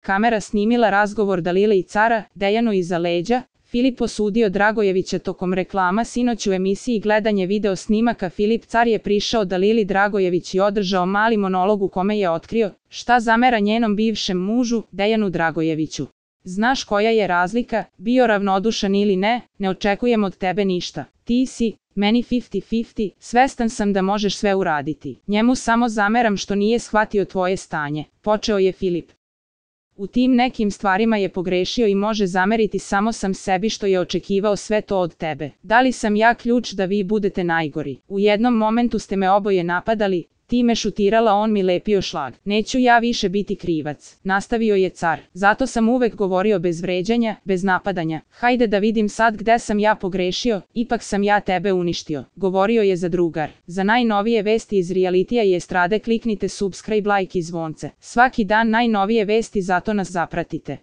Kamera snimila razgovor Dalile i cara, Dejanu iza leđa. Filip osudio Dragojevića tokom reklama sinoć u emisiji Gledanje video snimaka. Filip Car je prišao Dalili Dragojević i održao mali monolog u kome je otkrio šta zamera njenom bivšem mužu, Dejanu Dragojeviću. Znaš koja je razlika, bio ravnodušan ili ne, ne očekujem od tebe ništa. Ti si meni 50-50, svestan sam da možeš sve uraditi. Njemu samo zameram što nije shvatio tvoje stanje, počeo je Filip. U tim nekim stvarima je pogrešio i može zameriti samo sam sebi što je očekivao sve to od tebe. Da li sam ja ključ da vi budete najgori? U jednom momentu ste me oboje napadali, ti me šutirala, on mi lepio šlag. Neću ja više biti krivac, nastavio je car. Zato sam uvek govorio bez vređanja, bez napadanja. Hajde da vidim sad gde sam ja pogrešio, ipak sam ja tebe uništio, govorio je zadrugar. Za najnovije vesti iz realitija i estrade kliknite subscribe, like i zvonce. Svaki dan najnovije vesti, zato nas zapratite.